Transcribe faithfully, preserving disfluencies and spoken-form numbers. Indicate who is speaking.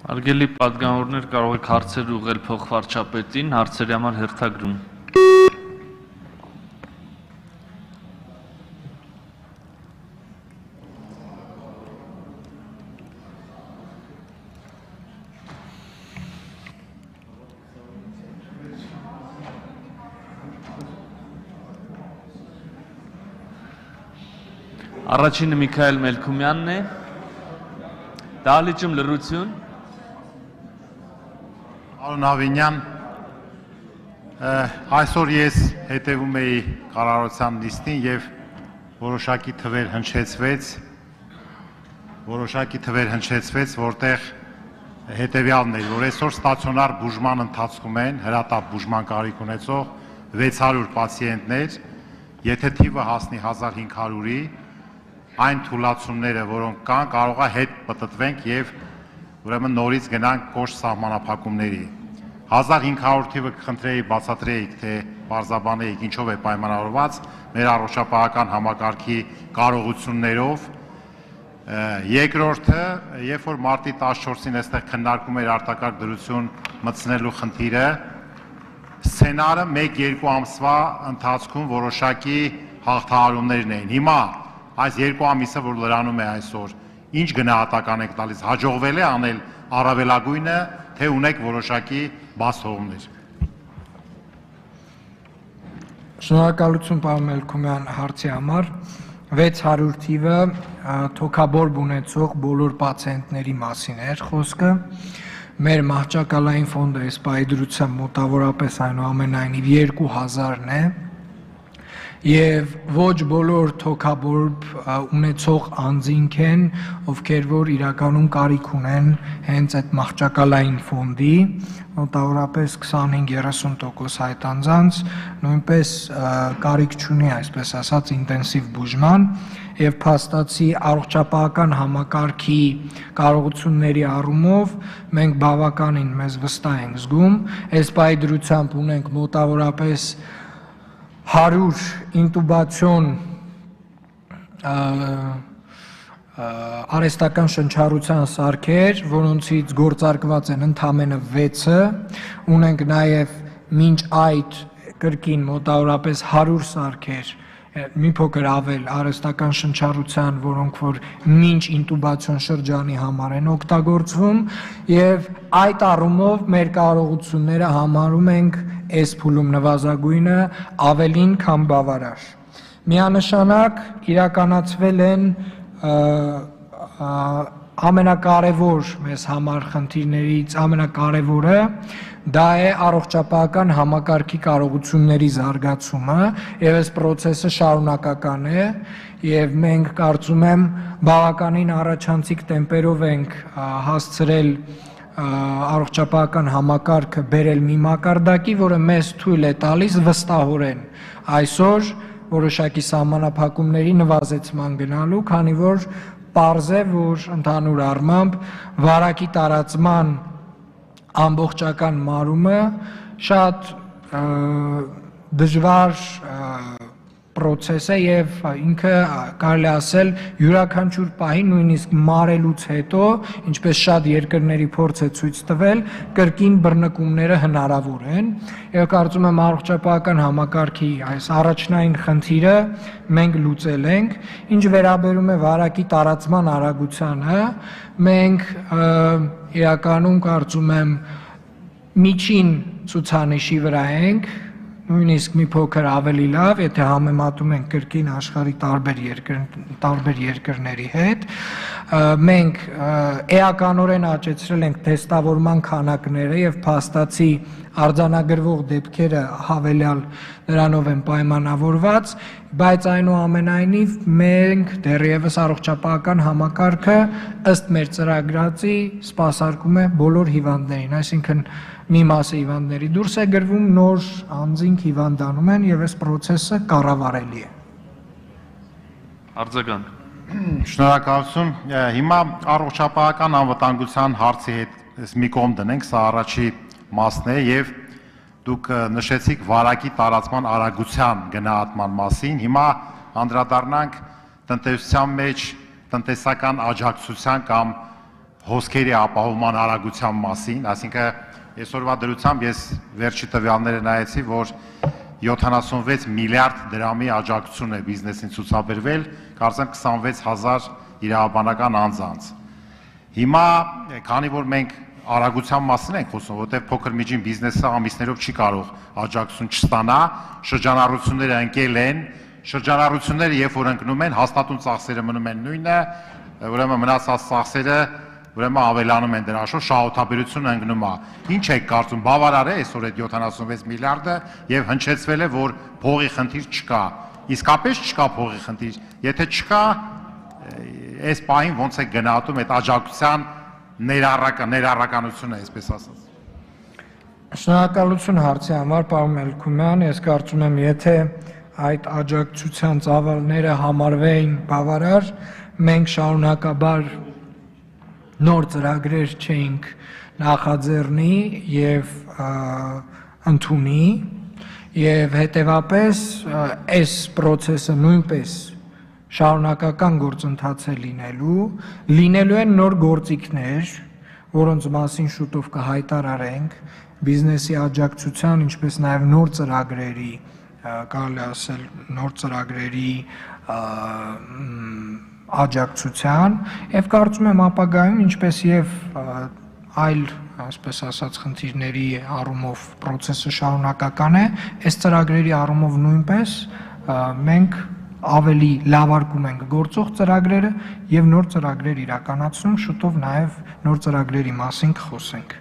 Speaker 1: Արգելի պատգամավորներ, կարող եք հարցեր ուղղել փոխվարչապետին, հարցերի համար հերթագրում։ Առաջինը Միքայել Մելքումյանն է, դահլիճում լռություն։
Speaker 2: Պարոն Ավինյան, այսօր ես հետևում էի կառավարության նիստին եւ որոշակի թվեր հնչեցվեց, որոշակի թվեր հնչեցվեց, որտեղ հետեւյալն էր, որ այսօր ստացիոնար բուժման ընթացքում են հրատապ բուժման կարիք ունեցող վեց հարյուր պացիենտներ, եթե թիվը հասնի հազար հինգ հարյուրի, այն թուլացումները, որոնք կան, կարող է հետ պտտվենք եւ ուրեմն նորից գնանք կոշտ սահմանափակումների։ հազար հինգ հարյուր թիվը կխնդրեի բացատրեիք, թե բարձաբանեիք ինչով է պայմանավորված մեր առողջապահական համակարգի կարողություններով։ Երկրորդը, երբ որ մարտի տասնչորսին այստեղ քննարկում էր արտակարգ դրություն մտցնելու խնդիրը, սցենարը մեկ-երկու ամսվա ընթացքում որոշակի հաղթահարումներն էին։ Հիմա այս երկու ամիսը, որ լրանում է այսօր, ինչ գնահատական եք տալիս, հաջողվել է անել առավելագույնը, թե ունեք որոշակի բացթողումներ։
Speaker 3: Շնորհակալություն պարոն Մելքումյան հարցի համար։ վեց հարյուր թիվը թոքաբորբ ունեցող բոլոր պացիենտների մասին էր խոսքը։ Մեր մահճակալային ֆոնդը այս պայդրությամբ մոտավորապես այնուամենայնիվ երկու հազարն է։ Եվ ոչ բոլոր թոքաբորբ ունեցող անձինք են, ովքեր որ իրականում կարիք ունեն հենց այդ մահճակալային ֆոնդի, մոտավորապես քսանհինգ երեսուն տոկոս այդ անձանց նույնպես կարիք չունի, այսպես ասած, ինտենսիվ բուժման եւ փաստացի առողջապահական համակարգի կարողությունների առումով մենք բավականին մեզ վստահ ենք զգում, այս պայդրությամբ ունենք մոտավորապես հարյուր ինտուբացիոն արհեստական շնչառության սարքեր, որոնցից գործարկված են ընդամենը վեցը, ունենք նաև մինչ այդ կրկին մոտավորապես հարյուր սարքեր, մի փոքր ավել արհեստական շնչառության, որոնք որ մինչ ինտուբացիոն շրջանի համար են օգտագործվում, եւ այդ առումով մեր կարողությունները համարում ենք այս փուլում նվազագույնը ավելին, քան բավարար։ Միանշանակ իրականացվել են ամենակարևոր մեզ համար խնդիրներից ամենակարևորը դա է առողջապահական համակարգի կարողությունների զարգացումը եւ այս process-ը շարունակական է եւ մենք կարծում եմ բավականին առաջանցիկ տեմպերով ենք հասցրել առողջապահական համակարգը բերել մի մակարդակի, որը մեզ թույլ է տալիս վստահորեն այսօր որոշակի սահմանափակումների նվազեցման գնալու, քանի որ պարզ է, որ ընդհանուր առմամբ վարակի տարածման ամբողջական մարումը շատ դժվար process է եւ ինքը կարելի ասել յուրաքանչյուր պահի նույնիսկ մարելուց հետո, ինչպես շատ երկրների փորձ է ցույց տվել, կրկին բռնկումները հնարավոր են եւ կարծում եմ առողջապահական համակարգի այս առաջնային խնդիրը մենք լուծել ենք, ինչ վերաբերում է վարակի տարածման արագությանը, մենք իրականում կարծում եմ միջին ցուցանիշի վրա ենք, նույնիսկ մի փոքր ավելի լավ, եթե համեմատում ենք կրկին աշխարհի տարբեր երկր, տարբեր երկրների հետ, մենք էականորեն աճեցրել ենք թեստավորման քանակները եւ փաստացի արձանագրվող դեպքերը հավելյալ նրանով են պայմանավորված, բայց այնուամենայնիվ մենք դեռևս առողջապահական համակարգը ըստ մեր ծրագրածի սպասարկում է բոլոր հիվանդներին, այսինքն մի մասը հիվանդների դուրս է գրվում, նոր անձինք հիվանդանում են եւ այս process-ը կառավարելի է։
Speaker 1: Արձագանք։
Speaker 2: Շնորհակալություն։ Հիմա առողջապահական անվտանգության հարցի հետ մի կողմ դնենք, սա առաջի մասն է եւ դուք նշեցիք վարակի տարածման արագության գնահատման մասին։ Հիմա անդրադառնանք տնտեսության մեջ տնտեսական աջակցության կամ հոսքերի ապահովման արագության մասին, այսինքն այսօրվա դրությամբ ես վերջի տվյալները նայեցի, որ յոթանասունվեց միլիարդ դրամի աջակցություն է բիզնեսին ցուցաբերվել, կարծեմ քսանվեց հազար իրավաբանական անձանց։ Հիմա, քանի որ մենք արագության մասին ենք խոսում, որտեղ փոքր միջին բիզնեսը ամիսներով չի կարող աջակցություն չստանա, շրջանառությունները ընկել են, շրջանառությունները երբ որ ընկնում են, հաստատուն ծախսերը մնում են նույնը, ուրեմն մնացած ծախսերը ուրեմն ավելանում են դրա շուրջ, շահութաբերությունը ընկնում է։ Ինչ եք կարծում, բավարար է այսօր այդ յոթանասունվեց միլիարդը եւ հնչեցվել է, որ փողի խնդիր չկա։ Իսկապես չկա փողի խնդիր։ Եթե չկա, այս պահին ոնց է գնահատում այդ աջակցության ներառական ներառականությունը, այսպես ասած։
Speaker 3: Շնորհակալություն հարցի համար, պարոն Մելքումյան, ես կարծում եմ, եթե այդ աջակցության ծավալները համարվեին բավարար, մենք շարունակաբար նոր ծրագրեր չէինք նախաձեռնի եւ ընդունի եւ հետեւապես այս process-ը նույնպես շարունակական գործընթաց է լինելու, լինելու են նոր գործիքներ, որոնց մասին շուտով կհայտարարենք, բիզնեսի աջակցության, ինչպես նաեւ նոր ծրագրերի, կարելի ասել նոր ծրագրերի աջակցության եւ կարծում եմ ապագայում ինչպես եւ այլ, այսպես ասած, խնդիրների առումով process-ը շարունակական է, այս ծրագրերի առումով նույնպես մենք ավելի լավարկում ենք գործող ծրագրերը եւ նոր ծրագրեր իրականացնում, շուտով նաեւ նոր ծրագրերի մասին կխոսենք։